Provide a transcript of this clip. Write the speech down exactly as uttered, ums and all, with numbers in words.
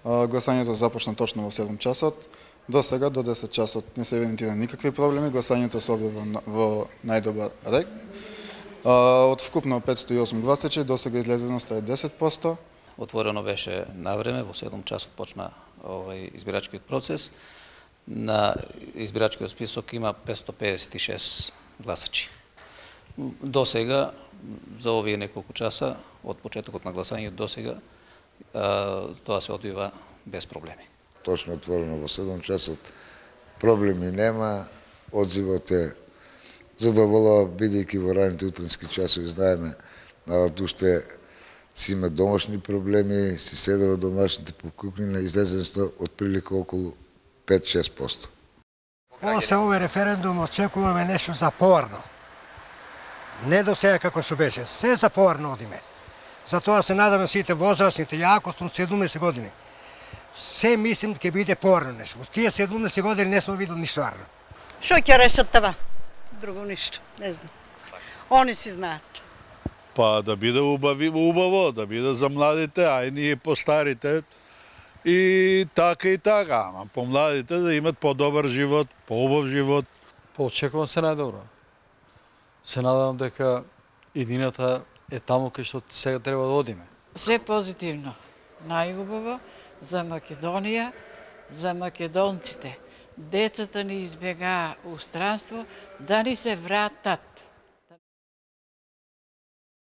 Гласањето започна точно во седум часот. До сега, до десет часот, не се евидентира никакви проблеми. Гласањето се објавува во најдобар ред. Од вкупно петстотини и осум гласачи, до сега излезеноста е десет проценти. Отворено беше на време, во седум часот почна овај избирачкиот процес. На избирачкиот список има петстотини педесет и шест гласачи. До сега, за овие неколку часа, од почетокот на гласањето до сега, тоа се одвива без проблеми. Точно отворено во седум часот, проблеми нема, одзивот е задоволува, бидејќи во раните утрински часови знаеме, народ уште си има домашни проблеми, си седе во домашните покукни на излезенство од прилика околу пет до шест проценти. После овој референдум очекуваме нешто запорно. Не до сега како што беше, се запорно одиме. Затоа се надаме сите возрастните, јако сум седумдесет години. Се мислим ќе биде порно нешто. Од тие седумдесет години не сум видел ништо арно. Што ќе решат това? Друго ништо, не знам. Они си знаат. Па да биде убави, убаво, да биде за младите, а и ние постарите. И така и така, ама помладите да имат подобар живот, поубав живот. Поочекувам се најдобро. Се надам дека иднината е таму кај што сега треба да одиме. Се позитивно, најубаво за Македонија, за македонците. Децата ни избегаа у странство, да ни се вратат.